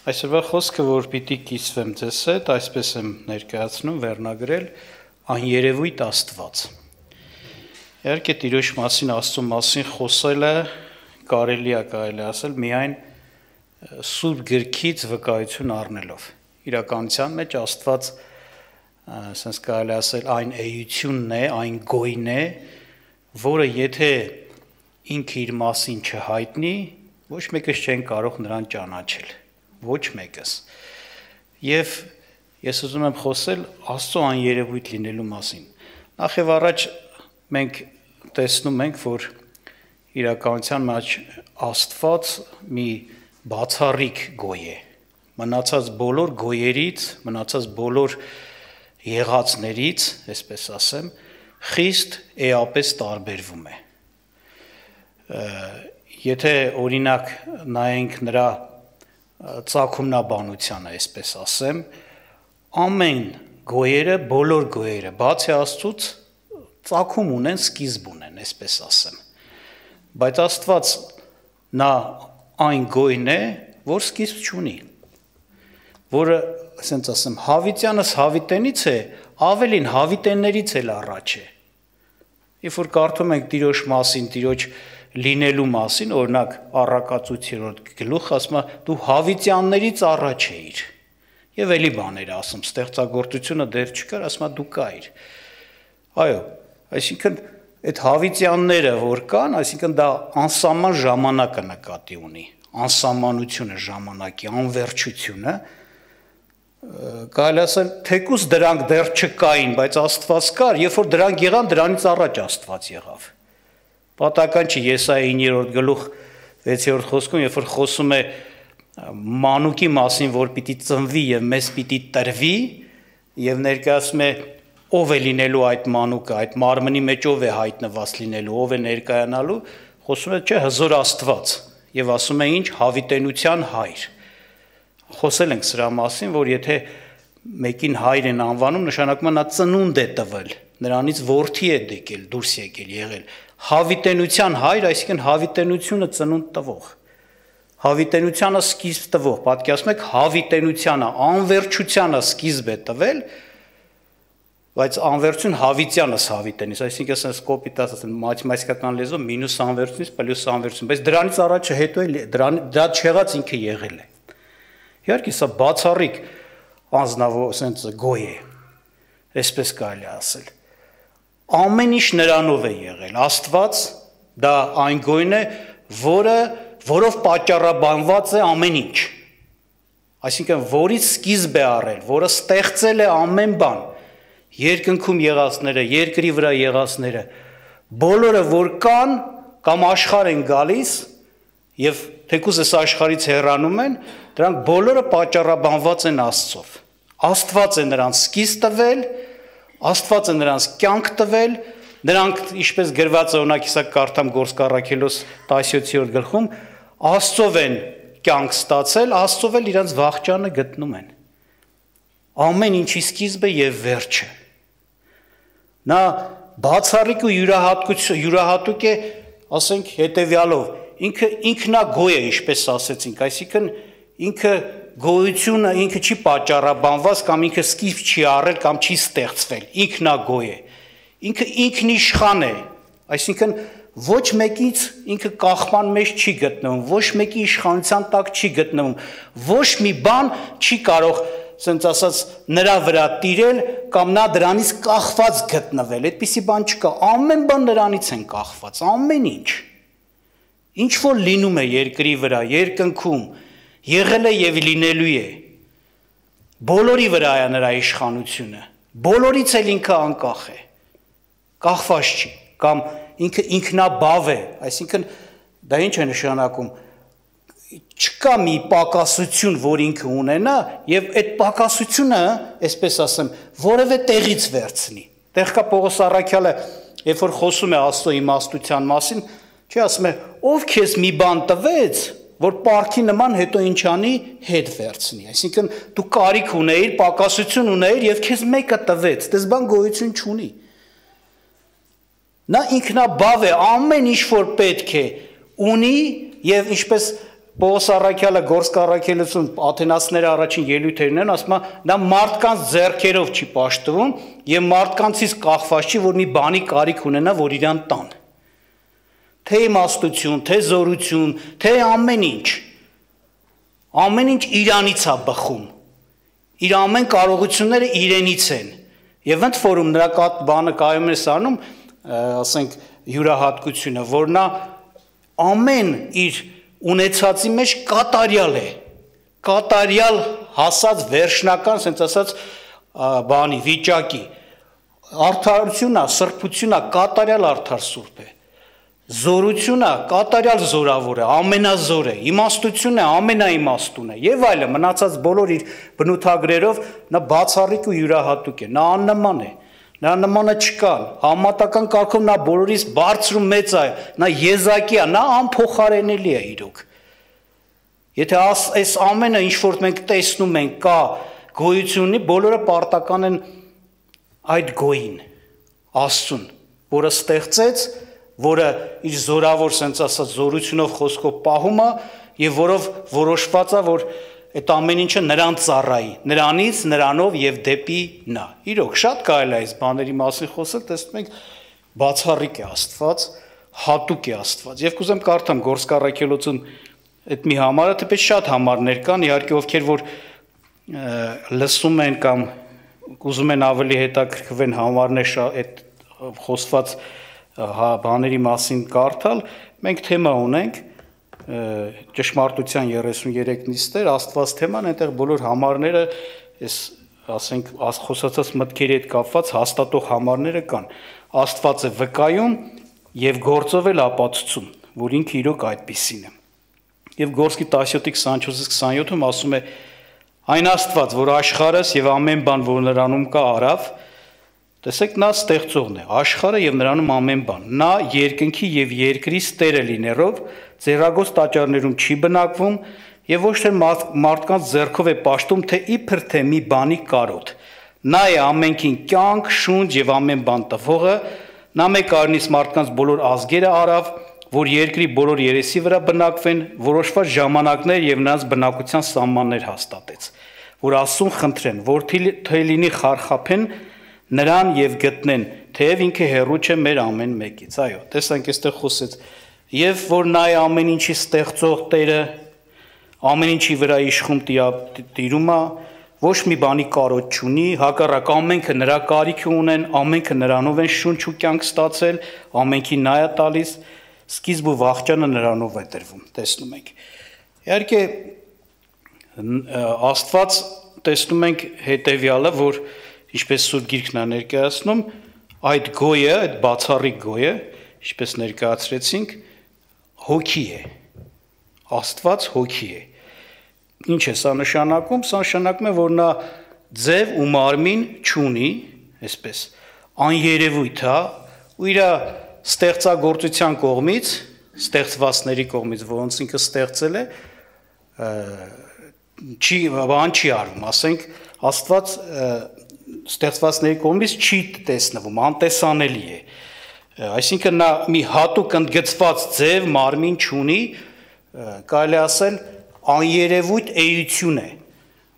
Այսօրվա խոսքը, որ պիտի կիսվեմ ձեզ հետ, այսպես եմ ներկայացնում, վերնագրել աներևույթ Աստված։ Իհարկե Տիրոջ մասին, Աստծո մասին խոսելը կարելի է ասել միայն Սուրբ գրքից վկայություն առնելով։ Իրականության մեջ Աստված, ասենք կարելի ասել, այն էությունն է, այն գոյն է, որը եթե ինքը իր մասին չհայտնի, ոչ մեկս չեն կարող նրան ճանաչել։ Ոչ մեկս։ Եվ ես ուզում եմ խոսել Աստծո աներևույթ լինելու մասին։ Նախ եւ առաջ մենք տեսնում ենք, որ իրականության մեջ Աստված մի բացառիկ գոյ է։ Մնացած բոլոր գոյերից, մնացած բոլոր եղածներից, այսպես ասեմ, խիստ էապես տարբերվում է։ Եթե օրինակ նայենք նրա ծագումնաբանությանը, այսպես ասեմ, ամեն գոյերը, բոլոր գոյերը, բացի Աստծուց, ծագում ունեն, սկիզբ ունեն, այսպես ասեմ։ Բայց Աստված նա այն գոյն է, որ սկիզբ չունի, որը, ասենց ասեմ, հավիտյանս հավիտենից է, ավելին հավիտեններից էլ առաջ է։ Երբ որ կարդում ենք Տիրոջ մասին, Տիրոջ լինելու մասին, օրինակ Առակաց 8-րդ գլուխ ասում է դու հավիտյաններից առաջ էիր։ Եվ էլի բաներ ասում, ստեղծագործությունը դեռ չկար, ասում է դու կայիր։ Այո, այսինքն այդ հավիտյանները որ կան, այսինքն դա անսահման ժամանակը նկատի ունի, անսահմանությունը ժամանակի, անվերջությունը, կարելի ասել թեկուզ դրանք դեռ չկային, բայց Աստված կար, երբ որ դրանք եղան, դրանից առաջ Աստված եղավ։ Պատահական չի Եսայի 9-րդ գլուխ 6-րդ խոսքում, երբ որ խոսում է մանուկի մասին, որ պիտի ծնվի եւ մեզ պիտի տրվի, եւ ներկայացում է ով է լինելու այդ մանուկը, այդ մարմնի մեջ ով է հայտնված լինելու, ով է ներկայանալու, խոսում է չէ հզոր Աստված եւ ասում է ինչ հավիտենության հայր։ Խոսել ենք սրա մասին, որ եթե մեկին հայր են անվանում, նշանակում է նա ծնունդ է տվել, նրանից որդի է եկել, դուրս եկել, եղել։ Հավիտենության հայր, այսինքն հավիտենությունը ծնունդ տվող, հավիտենությանը սկիզբ տվող, պատկերացնում եք հավիտենությանը, անվերջությանը սկիզբ է տվել, բայց անվերջություն հավիտյանս հավիտենից, այսինքն ասես կոպիտ ասած մաթեմատիկական լեզվով մինուս անվերջությունից պլյուս անվերջություն, բայց դրանից առաջ հետո դրա չեղած ինքը եղել է։ Իհարկե սա բացառիկ անձնավոր ասենց գոյ է, այսպես կարելի ասել։ Ամեն ինչ նրանով է եղել, Աստված դա այն գոյն է, որով պատճառաբանված է ամեն ինչ, այսինքն որից սկիզբ է առել, որը ստեղծել է ամեն բան, երկնքում եղածները, երկրի վրա եղածները, բոլորը որ կան կամ աշխարհ են գալիս եւ թեկուզ այս աշխարհից հեռանում են, դրանք բոլորը պատճառաբանված են Աստծով։ Աստված է նրանց սկիզբ տվել, Աստված է նրանց կյանք տվել, նրանք ինչպես գրված է օրինակ իսա կարդամ Գործք առաքելոս 17-րդ գլխում, Աստծով են կյանք ստացել, Աստծով էլ իրենց վախճանը գտնում են։ Ամեն ինչի սկիզբը եւ վերջը։ Նա բացառիկ ու յուրահատուկ է, ասենք հետեւյալով, ինքը ինքնագոյ է, ինչպես ասեցինք, այսինքն ինքը գոյությունը ինքը չի պատճառաբանված կամ ինքը սկիզբ չի առել կամ չի ստեղծվել, ինքնագոյ է, ինքը ինքնիշխան է, այսինքն ոչ մեկից ինքը կախման մեջ չի գտնվում, ոչ մեկի իշխանության տակ չի գտնվում, ոչ մի բան չի կարող, ասենց ասած, նրա վրա տիրել կամ նա դրանից կախված գտնվել, այդպիսի բան չկա, ամեն բան նրանից են կախված, ամեն ինչ, ինչ որ լինում է երկրի վրա, երկնքում, եղել է եւ լինելու է, բոլորի վրա է նրա իշխանությունը, բոլորից էլ ինքը անկախ է, կախված չի, կամ ինքը ինքնաբավ է, այսինքն դա ինչ է նշանակում, չկա մի պակասություն, որ ինքը ունենա, եւ այդ պակասությունը, այսպես ասեմ, որևէ տեղից վերցնի։ Տեղ կա Պողոս առաքյալը, երբ որ խոսում է Աստծո իմաստության մասին, չի ասում է, ով քեզ մի բան տվեց, որ պարքի նման հետո ինչ անի, հետ վերցնի, այսինքն դու կարիք ունեիր, պակասություն ունեիր եւ քեզ մեկը տվեց, դες բան գոյություն չունի։ Նա ինքնաբավ է, ամեն ինչ որ պետք է ունի եւ ինչպես Պողոս Առաքյալը Գորսկ առաքելություն աթենացիները առաջին ելույթերն են, ասում է, նա մարդկանց ձեռքերով չի պաշտվում եւ մարդկանցից կախված չի, որ մի բանի կարիք ունենա, որ իրան տան։ Թե իմաստություն, թե զորություն, թե ամեն ինչ իրանից է բխում։ Իր ամեն կարողությունները իրենից են։ Եվ ընդ որում նրա բանը կայում է սանում, ասենք յուրահատկությունը, որ նա ամեն իր ունեցածի մեջ կատարյալ է, կատարյալ հասած վերջնական, ասենց ասած, բանի վիճակի, արդարությունա, սրբությունա, կատարյալ արդար սուրբ է, զորությունա, կատարյալ զորավոր է, ամենազոր է, իմաստություն է, ամենաիմաստուն է, եւ այլը, մնացած բոլոր իր բնութագրերով նա բացառիկ ու յուրահատուկ է, նա աննման է, նա նմանը չկան, համատական կարգով նա բոլորից բարձր ու մեծ է, նա եզակի է, նա անփոխարենելի է իրոք։ Եթե այս ամենը ինչ որ մենք տեսնում ենք կա գոյություն ունի, բոլորը պարտական են այդ գոյին, Աստծուն, որը ստեղծեց, որը իր զորավոր սենց ասած զորությունով խոսքով պահում է եւ որով որոշված է, որ այդ ամեն ինչը նրան ծառայի, նրանից, նրանով եւ դեպի նա։ Իրոք շատ կարելի է այս բաների մասին խոսել, տեսնում ենք բացառիկ է Աստված, հատուկ է Աստված։ Եվ կուզեմ կարդամ Գորսկ առաքելություն այդ մի համարը, թեպետ շատ համարներ կան, իհարկե ովքեր որ լսում են կամ ուզում են ավելի հետաքրքրվեն համարներ այդ խոսված բաների մասին կարդալ, մենք թեմա ունենք ճշմարտության 33 նիստեր, Աստված թեման, այնտեղ բոլոր համարները, ասենք խոսացած մտքերի հետ կապված հաստատող համարները կան։ Աստված է վկայում եւ գործով էլ ապացուցում, որ ինքը իրոք այդպիսին է։ Եվ Գորսկի 17:24-27-ում ասում է. այն Աստված, որ աշխարհս եւ ամեն բան, որ նրանում կա, արավ, տեսեք նա ստեղծողն է, աշխարհը եւ նրանում ամեն բան։ Նա երկնքի եւ երկրի տերը լինելով ձեռագործ տաճարներում չի բնակվում եւ ոչ թե մարդկանց ձեռքով է պաշտում, թե իբր թե մի բանի կարոտ։ Նա է ամենքին կյանք, շունչ եւ ամեն բան տվողը, նա մեկ արնից մարդկանց բոլոր ազգերը արավ, որ երկրի բոլոր երեսի վրա բնակվեն, որոշված ժամանակներ եւ նրանց բնակության սահմաններ հաստատեց, որ Աստծուն խնդրեն, որ թե լինի խարխափեն նրան եւ գտնեն, թեև ինքը հեռու չէ մեր ամեն մեկից։ Այո, տեսանք այստեղ խոսեց, եւ որ նա է ամեն ինչի ստեղծող Տերը, ամեն ինչի վրա իշխում տիրում է, ոչ մի բանի կարոտ չունի, հակառակ ամենքը նրա կարիքը ունեն, ամենքը նրանով են շունչ ու կյանք ստացել, ամենքի նա է տալիս, սկիզբ ու վախճանը նրանով է տրվում, տեսնում ենք։ Իհարկե Աստված տեսնում ենք հետեւյալը, որ ինչպես Սուրբ Գիրքն է ներկայացնում, այդ գոյը, այդ բացառիկ գոյը, ինչպես ներկայացրեցինք, հոգի է։ Աստված հոգի է։ Ինչ է սա նշանակում? Սա նշանակում է, որ նա ձև ու մարմին չունի, այսպես, աներևույթ է, ու իր ստեղծագործության կողմից, ստեղծվածների կողմից, որոնց ինքը ստեղծել է, բան չի արվում, ասենք, Աստված ստեղծվածների կողմից չի տեսնվում, անտեսանելի է։ Այսինքն նա մի հատուկ ընդգծված ձև մարմին չունի, կարելի ասել աներևույթ էություն է,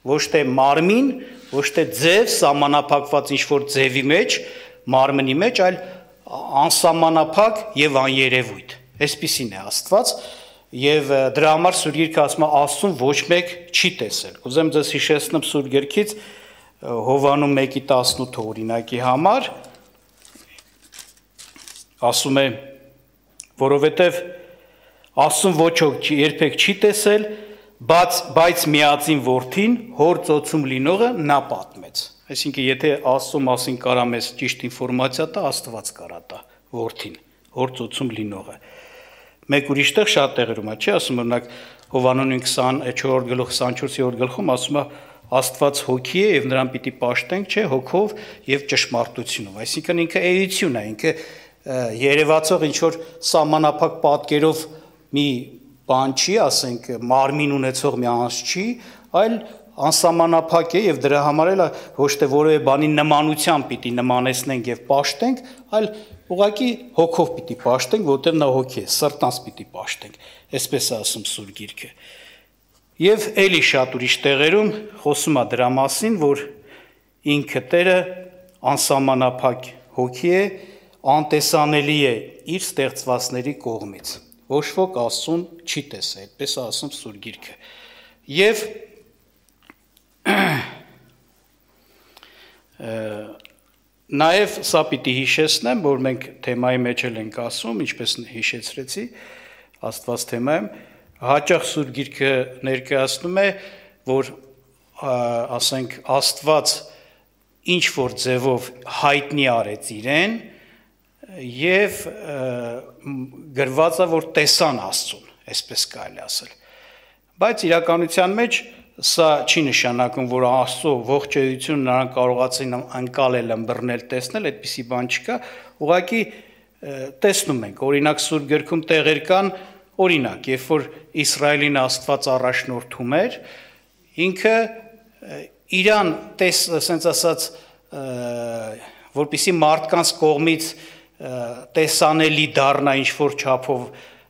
ոչ թե մարմին, ոչ թե ձև սահմանափակված ինչ-որ ձևի մեջ, մարմնի մեջ, այլ անսահմանափակ եւ աներևույթ։ Այսպիսին է Աստված, եւ դրա համար Սուրբ Գիրքը ասում է Աստծուն ոչ մեկ չի տեսել։ Կուզեմ ձեզ հիշեցնեմ Սուրբ Գիրքից Հովհաննես 1:18 օրինակի համար, ասում է, որովհետև Աստծուն ոչ ոք երբեք չի տեսել, բայց միածին որդին հոր ծոցում լինողը նա պատմեց։ Այսինքն եթե Աստծո մասին կարա մեզ ճիշտ ինֆորմացիա տա, Աստված կարա տա որդին, հոր ծոցում լինողը։ Մեկ ուրիշ տեղ շատ տեղերում է, չի ասում, օրինակ Հովհաննես 24:24 գլխում ասում է Աստված հոգի է եւ նրան պիտի պաշտենք, չէ, հոգով եւ ճշմարտությունով։ Այսինքն ինքը էություն է, ինքը երևացող ինչ որ սահմանափակ պատկերով մի բան չի, ասենք մարմին ունեցող մի անձ չի, այլ անսահմանափակ է եւ դրա համար էլ ոչ թե որևէ բանի նմանությամբ պիտի նմանեցնենք եւ պաշտենք, այլ ուղղակի հոգով պիտի պաշտենք, որտեղ նա հոգի է, սրտանց պիտի պաշտենք, այսպես է ասում Սուրբ Գիրքը։ Եվ էլի շատ ուրիշ տեղերում խոսում է դրա մասին, որ ինքը Տերը անսահմանափակ հոգի է, անտեսանելի է իր ստեղծվածների կողմից։ Ոչ ոք Աստծուն չի տեսել, այդպես է ասում Սուրբ Գիրքը։ Եվ նաև սա պիտի հիշեցնեմ, որ մենք թեմայի մեջ ենք ասում, ինչպես հիշեցրեցի, Աստված թեմայում, հաճախ Սուրբ Գիրքը ներկայացնում է, որ ասենք Աստված ինչ որ ձևով հայտնի արեց իրեն եւ գրված է, որ տեսան Աստծուն, այսպես կարելի ասել։ Բայց իրականության մեջ սա չի նշանակում, որ Աստծո ողջ էությունը նրանք կարողացին անցնել, ըմբռնել, տեսնել, այդպիսի բան չկա, ուղղակի տեսնում ենք, օրինակ Սուրբ Գրքում տեղեր կան, օրինակ, երբ որ Իսրայելին Աստված առաջնորդում էր, ինքը իրան ասենց ասած, որպեսզի մարդկանց կողմից տեսանելի դառնա ինչ-որ չափով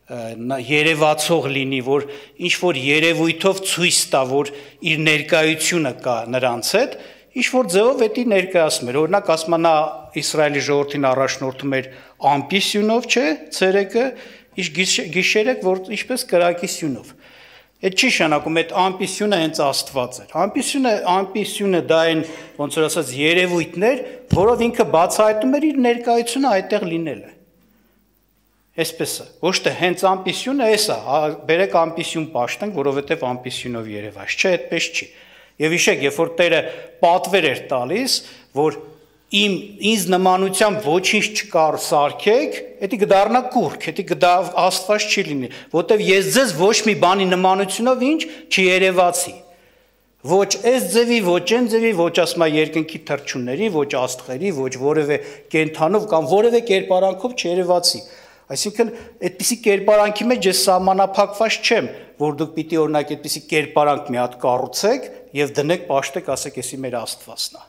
երևացող լինի, որ ինչ-որ երևույթով ցույց տա, որ իր ներկայությունը կա նրանց հետ, ինչ-որ ձևով էդի ներկայացում էր, օրինակ ասում նա Իսրայելի ժողովրդին առաջնորդում էր ամպի սյունով, չէ, ցերեկը, գիշերը, որ ինչպես կրակի սյունով։ Այդ չի շանակում, այդ ամպի սյունը հենց Աստված էր։ Ամպի սյունը դա այն, ոնց որ ասած, երևույթներ, որով ինքը բացահայտում էր իր ներկայությունը այդտեղ լինելը։ Այսպես է, ոչ թե հենց ամպի սյունը էս է, բերեք ամպի սյուն պաշտենք, որովհետև ամպի սյունով երևաց, չէ, այդպես չի։ Եվ հիշեք, երբ որ Տերը պատվեր էր տալիս, որ ինձ նմանությամբ ոչինչ չկար սարքեք, դա կդառնա կուռք, դա Աստված չի լինի, որտեվ ես ձեզ ոչ մի բանի նմանությունով ինչ չերևացի։ Ոչ այս ձևի, ոչ այն ձևի, ոչ ասма երկնքի թռչունների, ոչ աստղերի, ոչ որևէ կենդանով կամ որևէ կերպարանքով չերևացի։ Այսինքն, այդպիսի կերպարանքի մեջ ես սահմանափակված չեմ, որ դուք պիտի օրինակ այդպիսի կերպարանք մի հատ կառուցեք եւ դնեք, պաշտեք, ասեք, էսի մեր Աստվածն է։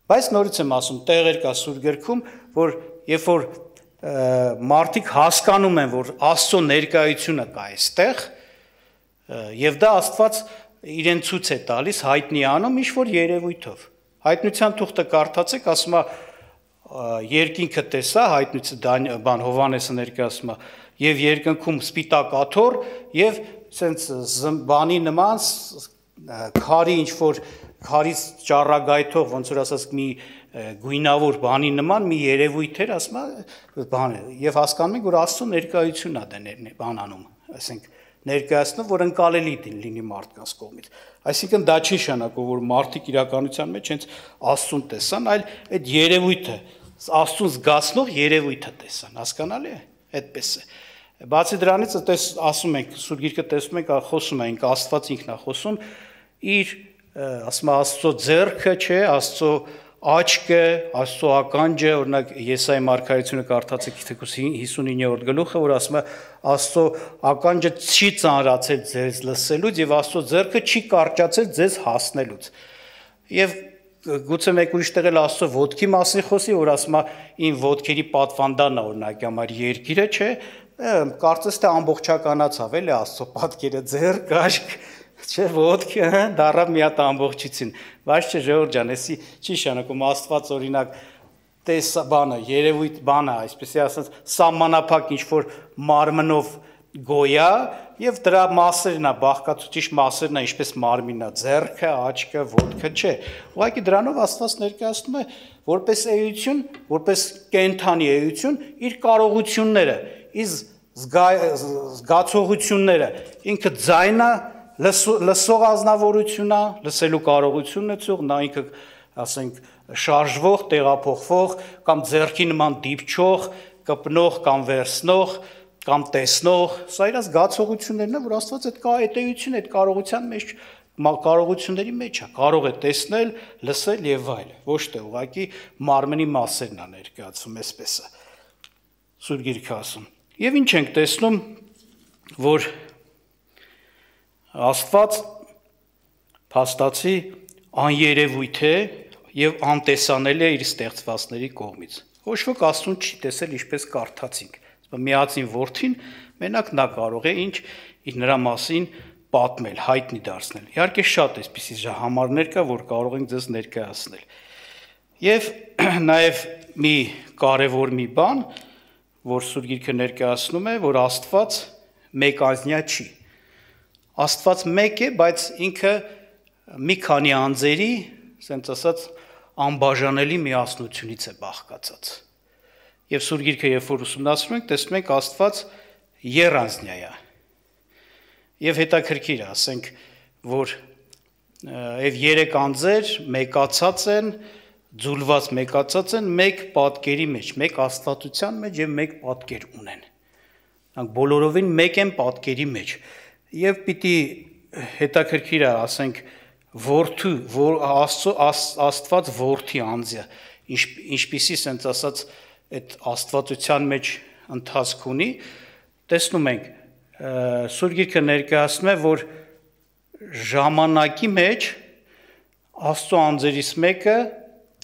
Բայց նորից եմ ասում, տեղեր կա Սուրբ Գրքում, որ երբ որ մարդիկ հասկանում են, որ Աստծո ներկայությունը կա այստեղ, եւ դա Աստված իրեն ցույց է տալիս, հայտնի անում ինչ որ երևույթով։ Հայտնության թուղթը կարդացեք, ասում է երկինքը տեսա, հայտնություն բան Հովհաննեսը ներկայացնում է, եւ երկնքում սպիտակ աթոռ եւ սենց բանի նման քարի ինչ որ քարից ճառագայթող, ոնց որ ասած մի գույնավոր բանի նման մի երևույթ էր, ասում է բան է, եւ հասկանում եք, որ Աստծո ներկայությունն է դա բանանում, ասենք ներկայացնում, որ ընկալելի լինի մարդկանց կողմից։ Այսինքն դա չի նշանակում, որ մարդիկ իրականության մեջ հենց Աստծուն տեսան, այլ այդ երևույթը, Աստծուն զգացնող երևույթը տեսան, հասկանալի է, այդպես է։ Բացի դրանից, ասում ենք, Սուրբ Գիրքը տեսնում ենք, խոսում ենք, Աստված ինքն է խոսում, իր ասում Աստծո ձեռքը, չէ, Աստծո աչքը, Աստծո ականջը, օրինակ Եսայի մարգարեությունը կարդացեք թեկուզ 59-րդ գլուխը, որ ասում է Աստծո ականջը չի ծանրացել ձեզ լսելուց եւ Աստծո ձեռքը չի կարճացել ձեզ հասնելուց։ Եվ գուցե մեկ ուրիշ տեղ էլ Աստծո ոտքի մասին խոսի, որ ասում է իմ ոտքերի պատվանդանն է, օրինակ համար երկիրը, չէ, կարծես թե ամբողջականացավ էլի Աստծո պատկերը, ձեռք, աշկ, չէ, ոտքը դառավ մի հատ ամբողջություն, բայց չէ, Ժողովուրդ ջան, էսի չի նշանակում Աստված օրինակ տեսա բանը, երևույթ բանը, այսպեսի ասած սահմանափակ ինչ որ մարմնով գոյա եւ դրա մասերն է, բաղկացուցիչ մասերն է, ինչպես մարմինն է, ձեռքը, աչքը, ոտքը, չէ։ Ուղղակի դրանով Աստված ներկայացնում է որպես էություն, որպես կենդանի էություն իր կարողությունները, իր զգացողությունները, ինքը ձայնը լսող ազնվորությունն է, լսելու կարողությունն է ցող, նա ինքը, ասենք, շարժվող, տեղափոխվող կամ ձեռքի նման դիպչող, կպնող կամ վերցնող կամ տեսնող, սա իր զգացողություններն է, որ Աստված այդ էությունը, այդ կարողությունների մեջ է, կարող է տեսնել, լսել եւ այլ, ոչ թե ուղղակի մարմնի մասերն է ներկայացում, այսպես է Սուրբ Գիրքը ասում։ Եվ ինչ ենք տեսնում, որ Աստված փաստացի աներևույթ է եւ անտեսանելի է իր ստեղծվածների կողմից։ Ոչ ոք Աստծուն չի տեսել ինչպես կարդացինք։ Միածին որդին մենակ նա կարող է ինչ նրա մասին պատմել, հայտնի դարձնել։ Իհարկե շատ էսպիսի համարներ կա, որ կարող ենք ձեզ ներկայացնել։ Եվ նաև մի կարևոր մի բան, որ Սուրբ Գիրքը ներկայացնում է, որ Աստված մեկազնյա չի։ Աստված մեկ է, բայց ինքը մի քանի անձերի, ասենց ասած, անբաժանելի միասնությունից է բաղկացած։ Եվ Սուրբ Գիրքը, երբ որ ուսումնասիրում ենք, տեսնում ենք Աստված եռանձնյա է։ Եվ հետաքրքիր է, ասենք, որ եւ երեք անձեր մեկացած են, ձուլված մեկացած են մեկ պատկերի մեջ, մեկ աստվածության մեջ եւ մեկ պատկեր ունեն։ Նրանք բոլորովին մեկ են պատկերի մեջ։ Եվ պիտի հետաքրքիր է, ասենք, որդու, Աստված որդի անձը, ինչպիսի sense ասած այդ աստվածության մեջ ընթացք ունի, տեսնում ենք, Սուրբ Գիրքը ներկայացնում է, որ ժամանակի մեջ Աստծո անձերից մեկը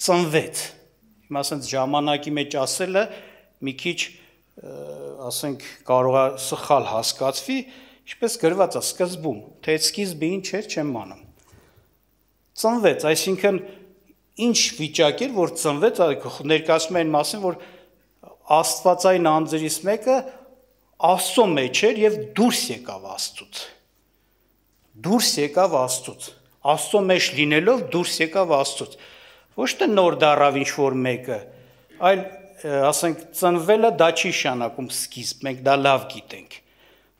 ծնվեց։ Հիմա ասենք ժամանակի մեջ ասելը մի քիչ, ասենք, կարող է սխալ հասկացվի, ինչպես գրված է սկզբում, թե այդ սկիզբը ինչ էր, չեմ անում։ Ծնվեց, այսինքն ինչ վիճակ էր, որ ծնվեց, ներկայացնում է այն մասին, որ Աստվածային անձերից մեկը Աստծո մեջ էր եւ դուրս եկավ Աստծուց։ Դուրս եկավ Աստծուց։ Աստծո մեջ լինելով դուրս եկավ Աստծուց։ Ոչ թե նոր դառավ ինչ որ մեկը, այլ ասենք ծնվելը դա չի նշանակում սկիզբ, մենք դա լավ գիտենք։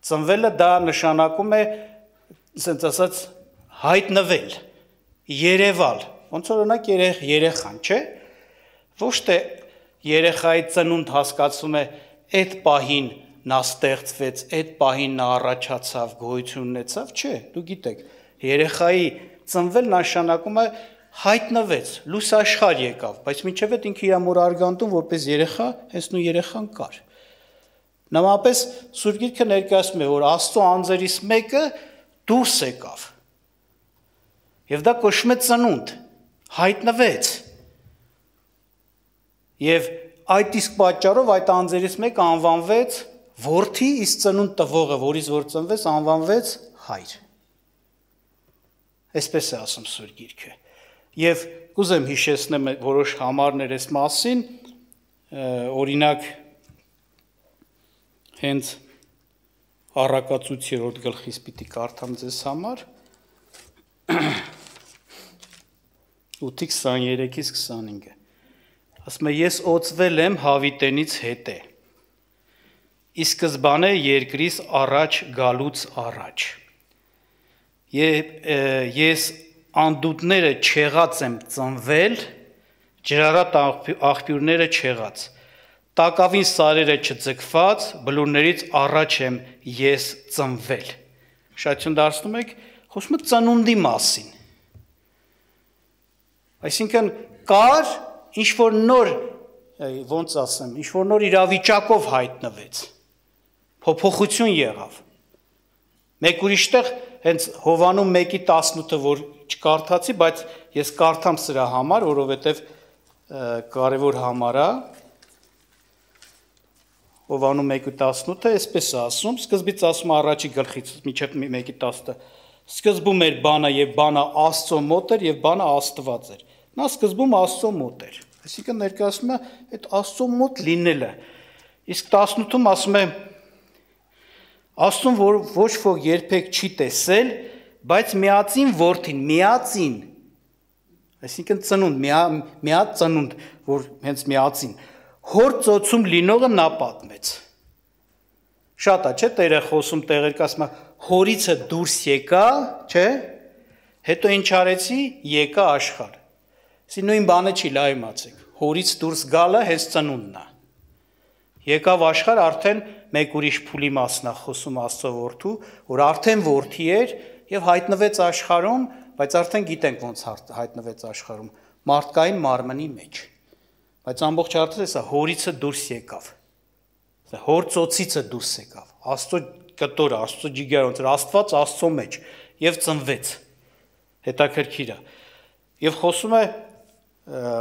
Ծնվելը դա նշանակում է, ասենց ասած, հայտնվել, երևալ, ոնց որ օրինակ երեխան, չէ՞։ Ոչ թե երեխայի ծնունդ հասկացում է այդ պահին նա ստեղծվեց, այդ պահին նա առաջացավ, գոյություն ունեցավ, չէ, դու գիտեք, երեխայի ծնվել նշանակում է հայտնվեց, լույս աշխարհ եկավ, բայց մինչև այդ ինքը իր մոր արգանդում որպես երեխա, հենց նույն երեխան կար։ Նմանապես Սուրբ Գիրքը ներկայացնում է, որ Աստծո անձերից մեկը դուրս եկավ։ Եվ դա կոչվում է ծնունդ, հայտնվեց։ Եվ այդ իսկ պատճառով այդ անձերից մեկը անվանվեց որդի, իսկ ծնունդ տվողը, որից որ ծնվեց, անվանվեց հայր։ Այսպես է ասում Սուրբ Գիրքը։ Եվ կուզեմ հիշեցնեմ որոշ համարներ այս մասին, օրինակ հենց Առակացույց 3-րդ գլխից պիտի կարդամ ձեզ համար 8:23-ից 25-ը։ Ասում է, ես օծվել եմ Հավիտենից հետե, ի սկզբանե երկրից առաջ գալուց առաջ։ Ես անդուդները չեղած եմ ծնվել, ջրառատ աղբյուրները չեղած, տակավին սարերը չձգված, բլուրներից առաջ եմ ես ծնվել։ Շատություն դարձնում եք, խոսում է ծնունդի մասին։ Այսինքն կար ինչ-որ նոր, ոնց ասեմ, ինչ-որ նոր իրավիճակով հայտնվեց, փոփոխություն եղավ։ Մեկ ուրիշտեղ հենց Հովաննում 1:18-ը, որ չկարդացի, բայց ես կարդամ սրա համար, որովհետև կարևոր համար է, Հովաննում 1:18-ը, այսպես է ասում, սկզբից ասում առաջի գլխից մինչև 1:10-ը, սկզբում էր բանը եւ բանը Աստծո մոտ էր եւ բանը Աստված էր։ Նա սկզբում Աստծո մոտ էր։ Այսինքն ներկայացնում է այդ Աստծո մոտ լինելը։ Իսկ 18-ում ասում է Աստծուն որ ոչ ոք երբեք չի տեսել, բայց միածին որդին, միածին, այսինքն ծնունդ, միած ծնունդ, որ հենց միածին, հոր ծոցում լինողը նա պատմեց։ Շատ է, չէ՞, Տերը խոսում տեղեր կասում է, հորիցը դուրս եկա, չէ՞, հետո ինչ արեցի, եկա աշխարհ։ Սի նույն բանը չի, լավ իմացեք, հորից դուրս գալը հենց ծնունդն է։ Եկավ աշխարհ արդեն մեկ ուրիշ փուլի մասն է խոսում Աստծո որդու, որ արդեն որդի էր եւ հայտնվեց աշխարհում, բայց արդեն գիտենք ոնց հայտնվեց աշխարհում, մարդկային մարմնի մեջ։ Բայց ամբողջ արդյունքը սա հորիցը դուրս եկավ։ Սա հոր ծոցիցը դուրս եկավ։ Աստծո կտորը, Աստծո ջիգերը, ոնց Աստված Աստծո մեջ եւ ծնվեց։ Հետաքրքիր է։ Եվ խոսում է,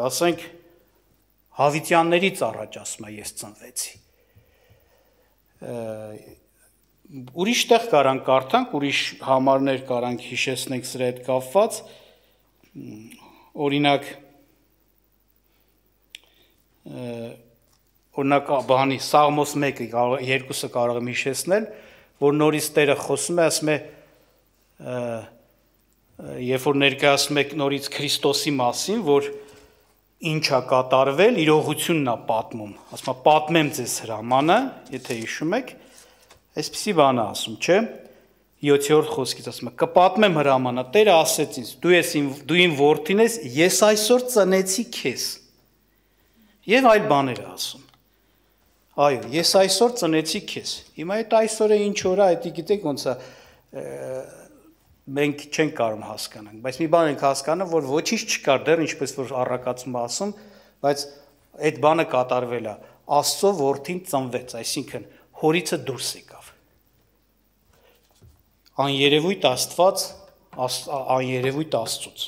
ասենք, Հավիտյաններից առաջ ասում է ես ծնվեցի։ Ուրիշ տեղ կարանք կարդանք, ուրիշ համարներ կարանք հիշեցնենք սրա հետ կապված, օրինակ բանի Սաղմոս 1-ը, 2-ը կարող եմ հիշեցնել, որ նորից Տերը խոսում է, ասում է, երբ որ ներկայացնում եք նորից Քրիստոսի մասին, որ ինչ է կատարվել, իրողությունն է պատմում, ասում է, պատմեմ ձեզ հրամանը, եթե հիշում եք, այսպիսի բան է ասում, չէ, 7-րդ խոսքից ասում է, կպատմեմ հրամանը, Տերը ասեց ինձ, դու իմ որդին ես, ես այսօր ծնեցի քեզ, և այլ բաներ է ասում, այո, ես այսօր ծնեցի քեզ, հիմա այդ այսօրը ինչ օր է, այդ գիտեք ոնց է, մենք չենք կարող հասկանանք, բայց մի բան ենք հասկանում, որ ոչինչ չկար դեռ, ինչպես որ առակացում ասում, բայց այդ բանը կատարվել է, Աստծո որդին ծնվեց, այսինքն հորիցը դուրս եկավ, աներևույթ Աստված, աներևույթ Աստծուց,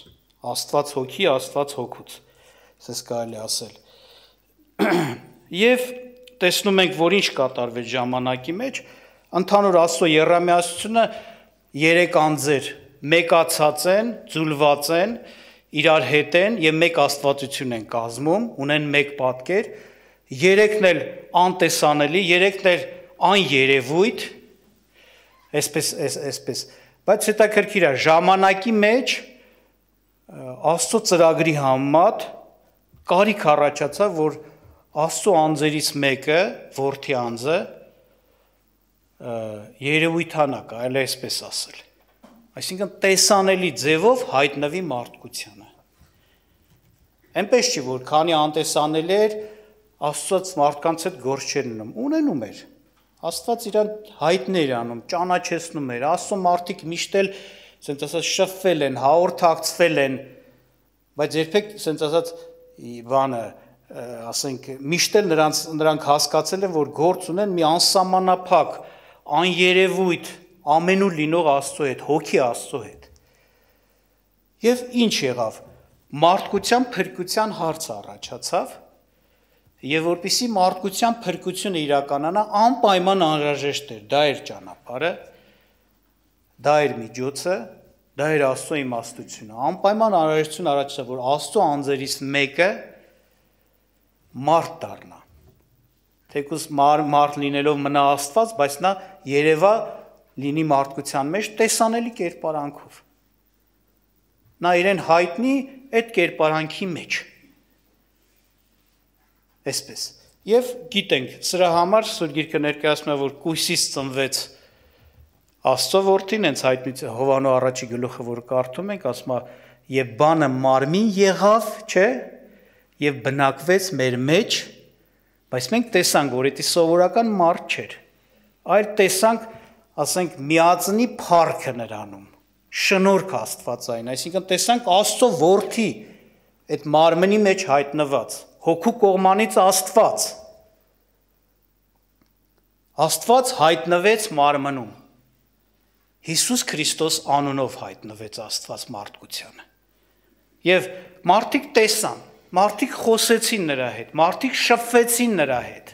Աստված հոգի, Աստված հոգուց, ասես կարելի ասել, և տեսնում ենք, որ ինչ կատարվեց ժամանակի մեջ, ընդհանուր Աստծո եռամիասությունը 3 անձեր մեկացած են, ձուլված են, իրար հետ են և մեկ աստվածություն են կազմում, ունեն մեկ պատկեր, 3-ն էլ անտեսանելի, 3-ն էլ աներևույթ, այսպես, բայց հետաքրքիր է, ժամանակի մեջ Աստծո ծրագրի համեմատ կարիք առաջացավ, որ Աստծո անձերից մեկը, որդի անձը, երևույթանա, կարելի է այսպես ասել, այսինքն տեսանելի ձևով հայտնվի մարդկությանը, այնպես չի, որ քանի անտեսանելի էր, Աստծոց մարդկանց հետ գործ չէր ունենում էր, Աստված իրան հայտներ անում, ճանաչեցնում էր, Աստծո մարդիկ միշտ էլ սենց ասած շփվել են, հաղորդակցվել են, բայց երբեք սենց ասած բանը, ասենք, միշտ էլ նրանք հասկացել են, որ գործ ունեն մի անսահմանափակ, աներևույթ, ամենուր լինող Աստծո հետ, հոգի Աստծո հետ։ Եվ ինչ եղավ, մարդկության փրկության հարց առաջացավ, և որպեսզի մարդկության փրկությունը իրականանա, անպայման անհրաժեշտ էր, դա էր ճանապարհը, դա էր միջոցը, դա էր Աստծո իմաստությունը, անպայման անհրաժեշտություն առաջացավ, որ Աստծո անձերից մեկը մարդ դառնա, թեկուզ մարդ լինելով մնա Աստված, բայց նա երևա լինի մարդկության մեջ տեսանելի կերպարանքով, նա իրեն հայտնի այդ կերպարանքի մեջ, այսպես, և գիտենք, սրա համար Սուրբ Գիրքը ներկայացնում է, որ կույսից ծնվեց Աստծո որդին, հենց հայտնի Հովհաննես առաջի գլուխը, որ կարդում ենք, ասում է, և բանը մարմին եղավ, չէ, և բնակվեց մեր մեջ, բայց մենք տեսանք, որ դա սովորական մարդ չէր, այլ տեսանք, ասենք, միածնի փառքը նրանում, շնորհք Աստվածային, այսինքն տեսանք Աստծո որդի այդ մարմնի մեջ հայտնված, հոգու կողմանից Աստված հայտնվեց մարմնում, Հիսուս Քրիստոս անունով հայտնվեց Աստված մարդկությանը, և մարդիկ տեսան, մարդիկ խոսեցին նրա հետ, մարդիկ շփվեցին նրա հետ,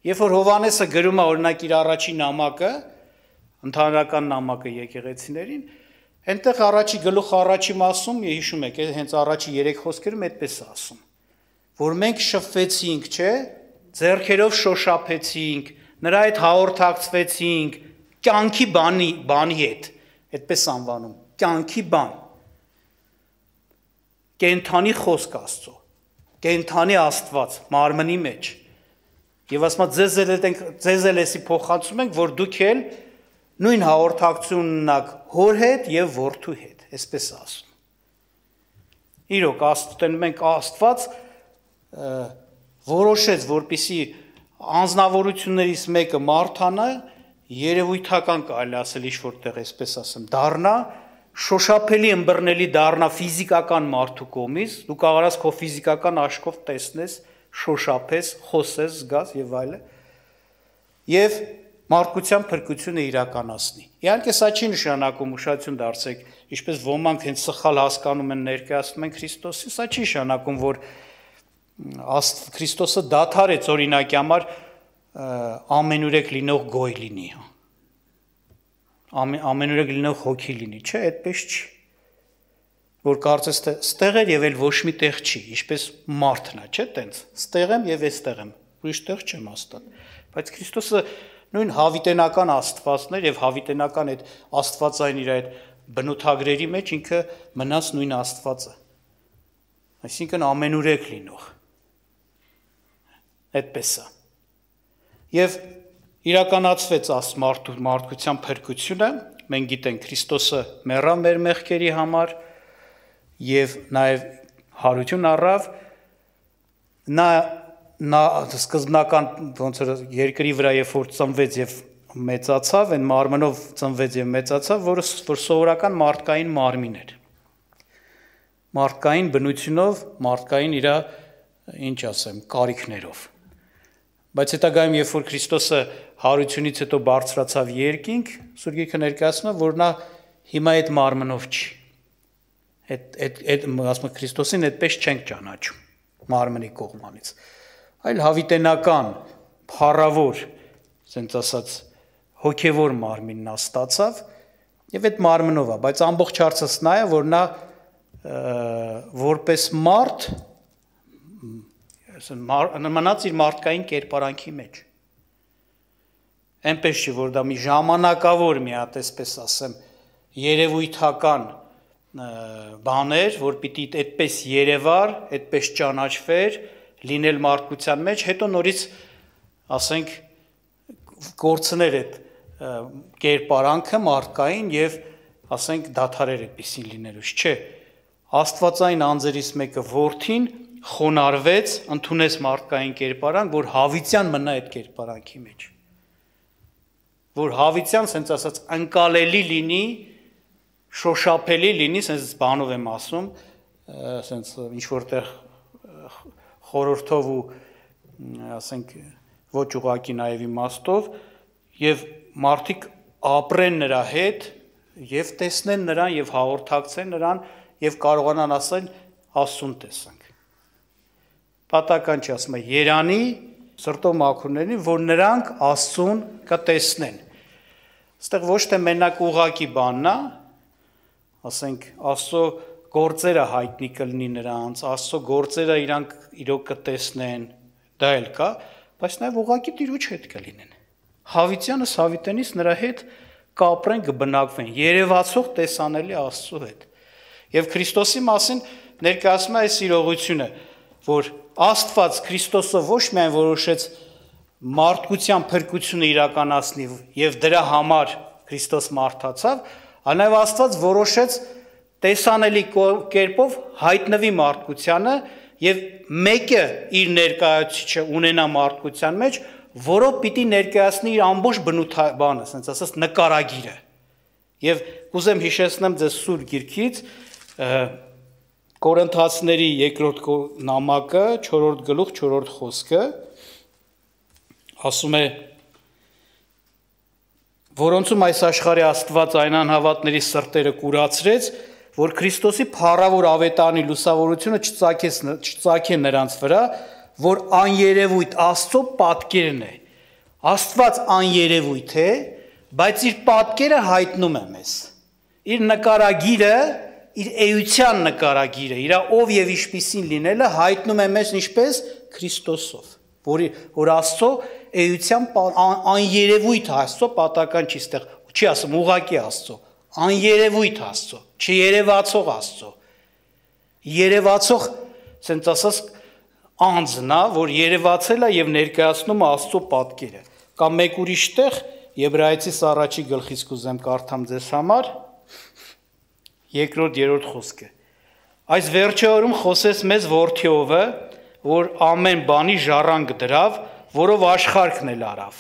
երբ որ Հովհաննեսը գրում է օրինակ իր առաջի նամակը, ընդհանրական նամակը եկեղեցիներին, այնտեղ առաջի գլուխ առաջի մասում, հիշում եք, հենց առաջի 3 խոսքերում այդպես է ասում, որ մենք շփվեցինք, չէ, ձեռքերով շոշափեցինք, նրա հետ հաղորդակցվեցինք, կյանքի բանի հետ, այդպես անվանում, կյանքի բան, կենդանի խոսք Աստծո, կենդանի Աստված, մարմնի մեջ, և ասում ձեզ էլ էսի փոխանցում ենք, որ դուք էլ նույն հաղորդակցություն ունենաք հոր հետ և որդու հետ, այսպես ասում։ Իրոք, մենք Աստված որոշեց, որպեսզի անձնավորություններից մեկը մարդանա, երևույթական կարելի ասել ինչ-որտեղ, այսպես ասեմ, դառնա, շոշափելի ըմբռնելի դառնա ֆիզիկական մարդու կողմից, դու կարող ես քո ֆիզիկական աչքով տեսնես, շոշափես, խոսես, զգաս եւ այլն, եւ մարդկության փրկությունը իրականացնի։ Իհարկե սա չի նշանակում ուշադրություն դարձեք, ինչպես ոմանք հենց սխալ հասկանում են ներկայացնում են Քրիստոսին, սա չի նշանակում, որ Քրիստոսը դադարեց օրինակի համար ամենուրեք լինող գոյ լինի, ամենուրեք լինող հոգի լինի, չէ, այդպես չի, որ կարծես թե ստեղ էր եւ էլ ոչ մի տեղ չի, ինչպես մարդն է, չէ, տենց, ստեղ եմ եւ այստեղ եմ, ուրիշ տեղ չեմ աստան, բայց Քրիստոսը նույն հավիտենական Աստվածներ եւ հավիտենական այդ Աստվածային իր այդ բնութագրերի մեջ ինքը մնաց նույն Աստվածը, այսինքն ամենուրեք լինող, այդպես է, եւ իրականացվեց մարդկության փրկությունը, մենք գիտենք Քրիստոսը մեռավ մեր մեղքերի համար եւ նաեւ հարություն առավ, նա սկզբնական ոնց որ երկրի վրա երբ որ ծնվեց եւ մեծացավ, այն մարմնով ծնվեց եւ մեծացավ, որ սովորական մարդկային մարմին էր։ Մարդկային բնությունով, մարդկային իր ինչ ասեմ, կարիքներով։ Բայց հետագայում երբ որ Քրիստոսը հարությունից հետո բարձրացավ երկինք, Սուրբ Գիրքը ներկայացնում է, որ նա հիմա այդ մարմնով չի։ Այդ ասում Քրիստոսին այդպես չենք ճանաչում մարմնի կողմանից, այլ հավիտենական, փառավոր, ասենք ասած, հոգևոր մարմինն ստացավ եւ այդ մարմնով է, բայց ամբողջ հարցս նա է, որ նա որպես մարդ մնաց իր մարդկային կերպարանքի մեջ։ Այնպես չի, որ դա մի ժամանակավոր մի հատ, այսպես ասեմ, երևույթական բաներ, որ պիտի այդպես երևար, այդպես ճանաչվեր, լինել մարդկության մեջ, հետո նորից, ասենք, կորցներ այդ կերպարանքը մարդկային եւ, ասենք, դադարեր այդպեսին լինելուց, չէ։ Աստվածային անձերից մեկը որդին խոնարհվեց, ընդունեց մարդկային կերպարանք, որ հավիտյան մնա այդ կերպարանքի մեջ։ Որ հավիտյան, ասենց ասած, ընկալելի լինի, շոշափելի լինի, ասենց բանով եմ ասում, ասենց ինչ որտեղ խորհրդով ու ասենք ոչ ուղակի նաև իմաստով եւ մարդիկ ապրեն նրա հետ եւ տեսնեն նրան եւ հաղորդակցեն նրան եւ կարողանան ասել Աստծուն տեսանք։ Պատական չի ասում է Երանի սրտով մաքուրներին, որ նրանք Աստծուն կտեսնեն։ Այստեղ ոչ թե մենակ ուղակի բանն է, ասենք Աստծո գործերը հայտնի կլինի նրանց, Աստծո գործերը իրանք իրոք կտեսնեն, դա էլ կա, բայց նաև ուղղակի Տիրոջ հետ կլինեն։ Հավիտյանս հավիտենից նրա հետ կապրեն, կբնակվեն, երևացող տեսանելի Աստծո հետ։ Եվ Քրիստոսի մասին ներկայացնում է այս իրողությունը, որ Աստված Քրիստոսով ոչ միայն որոշեց մարդկության փրկությունը իրականացնի եւ դրա համար Քրիստոս մարդացավ, այլ նաև Աստված որոշեց տեսանելի կերպով հայտնվի մարդկությանը եւ մեկը իր ներկայացուցիչը ունենա մարդկության մեջ, որով պիտի ներկայացնի իր ամբողջ բնութաբանը, ասենց ասած նկարագիրը։ Եվ կուզեմ հիշեցնեմ ձեզ Սուրբ Գիրքից Կորինթացիների երկրորդ նամակը 4-րդ գլուխ 4-րդ խոսքը ասում է որոնցում այս աշխարհի Աստված այն անհավատների սրտերը կուրացրեց, որ Քրիստոսի փառավոր ավետարանի լուսավորությունը չծագե նրանց վրա, որ աներևույթ Աստծո պատկերն է։ Աստված աներևույթ է, բայց իր պատկերը հայտնում է մեզ։ Իր նկարագիրը, իր էության նկարագիրը, իր ով եւ ինչպիսին լինելը հայտնում է մեզ ինչպես Քրիստոսով, որ Աստծո էության աներևույթ Աստծո պատական չի ստեղ, չի ասում ուղակի Աստծո, աներևույթ Աստծո, չերևացող Աստծո։ Երևացող, ասենք ասած, անձն է, որ երևացել է եւ ներկայացնում է Աստծո պատկերը։ Կամ մեկ ուրիշ տեղ Եբրայեցիս առաջի գլխից կուզեմ կարդամ ձեզ համար 2-3 խոսքը։ Այս վերջերում խոսեց մեզ որդիովը, որ ամեն բանի ժառանգ դրավ, որով աշխարհքն էլ արավ,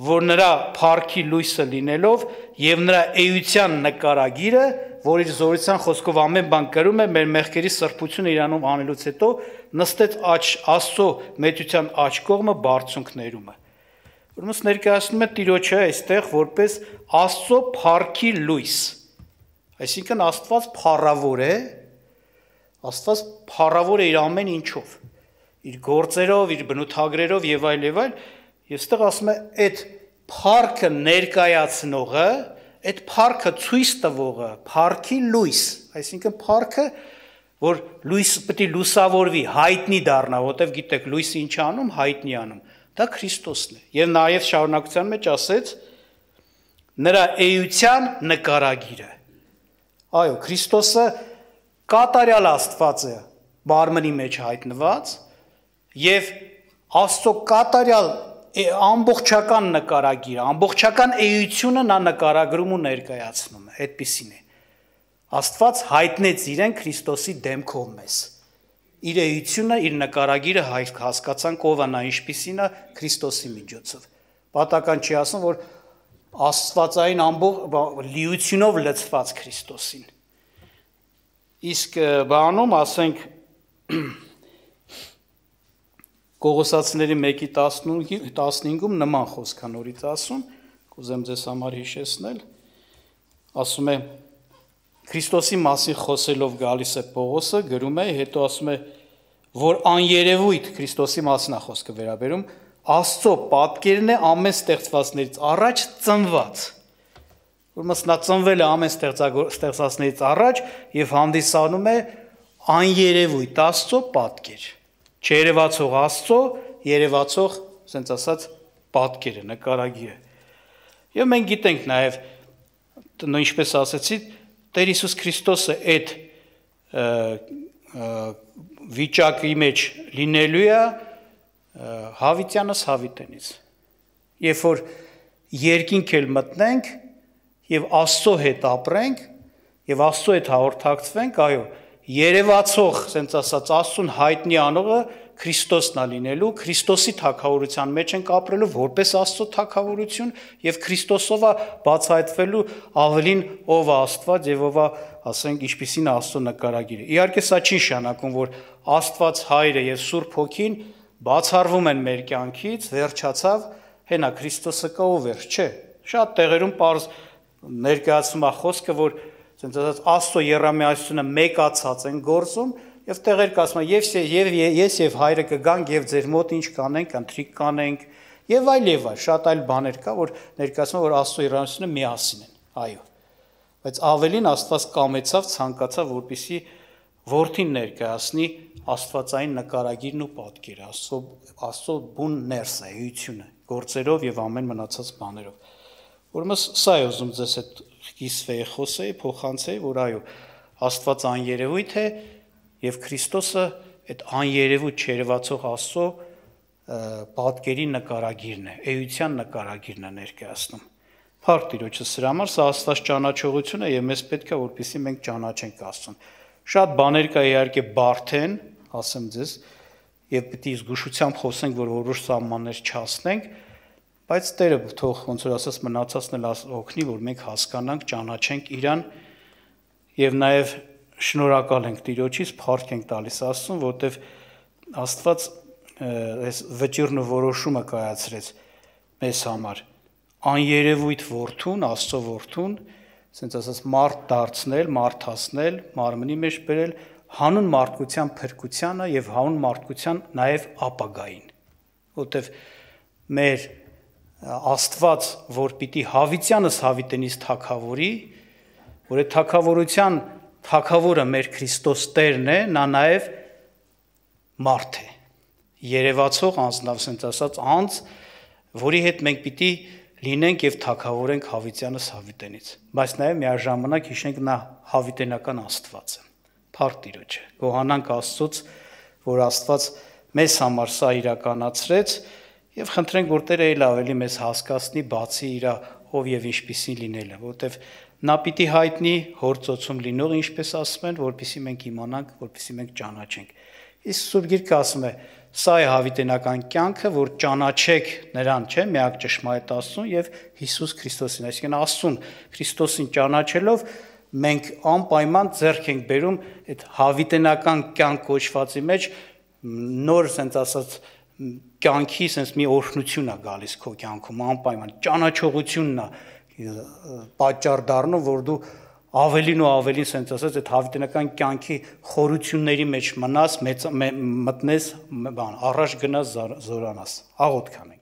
որ նրա փառքի լույսը լինելով եւ նրա էության նկարագիրը, որ իր զորության խոսքով ամեն բան կրում է, մեր մեղքերի սրբությունը իրանով անելուց հետո նստեց Աստծո մեծության աջ կողմը բարձունքներումը։ Ուրեմն ներկայացնում է Տիրոջը այստեղ որպես Աստծո փառքի լույս։ Այսինքն Աստված փառավոր է իր ամեն ինչով։ իր գործերով, իր բնութագրերով եւ այլ, եւ այստեղ ասում է այդ փառքը ներկայացնողը, այդ փառքը ցույց տվողը, փառքի լույս, այսինքն փառքը, որ լույս պետք է լուսավորվի, հայտնի դառնա, որտեվ գիտեք, լույսը ինչ անում, հայտնի անում, դա Քրիստոսն է։ Եվ նաեւ շարունակության մեջ ասեց նրա էության նկարագիրը։ Այո, Քրիստոսը կատարյալ Աստված է մարմնի մեջ հայտնված եւ Աստծո կատարյալ ամբողջական նկարագիրը, ամբողջական էությունը նա նկարագրում ու ներկայացնում է, այդպիսին է։ Աստված հայտնեց իրեն Քրիստոսի դեմքով մեզ։ Իր էությունը, իր նկարագիրը հասկացանք ով է նա, ինչպիսին է Քրիստոսի միջոցով։ Պատական չի ասում, որ Աստվածային լիությունով լցված Քրիստոսին։ Իսկ բանում ասենք Կողոսացիների 1:15-ում նման խոսք է նորից ասում, կուզեմ ձեզ համար հիշեցնել, ասում է Քրիստոսի մասին խոսելով գալիս է Պողոսը, գրում է, հետո ասում է, որ աներևույթ Քրիստոսի մասին է խոսքը վերաբերում, Աստծո պատկերն է ամեն ստեղծվածներից առաջ ծնված։ Ուրեմն նա ծնվել է ամեն ստեղծածներից առաջ եւ հանդիսանում է աներևույթ Աստծո պատկեր։ Չերևացող Աստծո, երևացող, ասենց ասած, պատկերը, նկարագիրը։ Եվ մենք գիտենք նաև, ինչպես ասեցի, Տեր Հիսուս Քրիստոսը այդ վիճակի մեջ լինելու է հավիտյանս հավիտենից։ Երբ որ երկինք էլ մտնենք եւ Աստծո հետ ապրենք եւ Աստծո հետ հաղորդակցվենք, այո, երևացող, ասենց ասած, Աստծուն հայտնի անողը Քրիստոսն է լինելու, Քրիստոսի թագավորության մեջ ենք ապրելու որպես Աստծո թագավորություն եւ Քրիստոսով է բացահայտվելու ավելին ով է Աստված եւ ով է, ասենք, ինչպիսին է Աստծո նկարագիրը։ Իհարկե սա չի նշանակում, որ Աստված Հայրը եւ Սուրբ Հոգին բացառվում են մեր կյանքից, վերջացավ, հենա Քրիստոսը կա ու վերջ, չէ։ Շատ տեղերում պարզ ներկայացում է խոսքը, որ ասենց ասած Աստծո երամիացությունը մեկացած են գործում եւ տեղեր կասում են ես եւ Հայրը կգանք եւ ձեր մոտ ինչ կանենք, ընթրիք կանենք եւ այլ, շատ այլ բաներ կա, որ ներկայացնում որ Աստծո երամիացությունը միասին են, այո։ Բայց ավելին Աստված կամեցավ, ցանկացավ, որպեսզի որդին ներկայացնի Աստվածային նկարագիրն ու պատկերը, Աստծո բուն ներսը, էությունը, գործերով եւ ամեն մնացած բաներով։ Ուրեմն սա է ուզում ձեզ այդ կիսվեի խոսեի, փոխանցեի, որ այո, Աստված աներևույթ է եւ Քրիստոսը այդ աներևույթ չերևացող Աստծո պատկերի նկարագիրն է, էության նկարագիրն է ներկայացնում։ Փառք Տիրոջը սրա համար, սա Աստված ճանաչողություն է եւ մեզ պետք է որպեսզի մենք ճանաչենք Աստծուն։ Շատ բաներ կա իհարկե բարդ են, ասեմ ձեզ, եւ պետք է զգուշությամբ խոսենք, որ որոշ սահմաններ չհասնենք, բայց Տերը թող ոնց որ ասած մնացածն էլ օգնի, որ մենք հասկանանք, ճանաչենք իրան եւ նաեւ շնորհակալ ենք Տիրոջից, փառք ենք տալիս Աստծուն, որտեւ Աստված այս վճիռն ու որոշումը կայացրեց մեզ համար։ Աներևույթ որդուն, Աստծո որդուն, ասենց ասած մարդ դարձնել, մարդացնել, մարմնի մեջ բերել հանուն մարդկության փրկությանը եւ հանուն մարդկության նաեւ ապագային, որտեւ մեր Աստված, որ պիտի հավիտյանս հավիտենից թագավորի, որ այդ թագավորության թագավորը մեր Քրիստոս Տերն է, նա նաեւ մարդ է, երևացող անձնավ, ասենց ասած անձ, որի հետ մենք պիտի լինենք եւ թագավորենք հավիտյանս հավիտենից, բայց նաեւ միաժամանակ հիշենք նա հավիտենական Աստված է։ Փառք Տիրոջը, գոհանանք Աստծուց, որ Աստված մեզ համար սա իրականացրեց եւ խնդրենք, որ Տերը ել ավելի մեզ հասկացնի, բացի իր ով եւ ինչպիսին լինելը, որովհետեւ նա պիտի հայտնի հոր ծոցում լինող, ինչպես ասում են, որպեսզի մենք իմանանք, որպեսզի մենք ճանաչենք։ Իսկ Սուրբ Գիրքը ասում է, սա է հավիտենական կյանքը, որ ճանաչեք նրան, չէ՞, միակ ճշմարիտ Աստծուն եւ Հիսուս Քրիստոսին, այսինքն Աստծուն Քրիստոսին ճանաչելով մենք անպայման ձեռք ենք բերում այդ հավիտենական կյանք կոչվածի մեջ նոր, ասենց ասած, կյանքի ասենց մի օրհնություն է գալիս քո կյանքում, անպայման ճանաչողությունն է պատճառ դառնում, որ դու ավելին ու ավելին սենց ասած այդ հավիտենական կյանքի խորությունների մեջ մնաս, մտնես, բան, առաջ գնաս զորանաս, աղոթք անենք։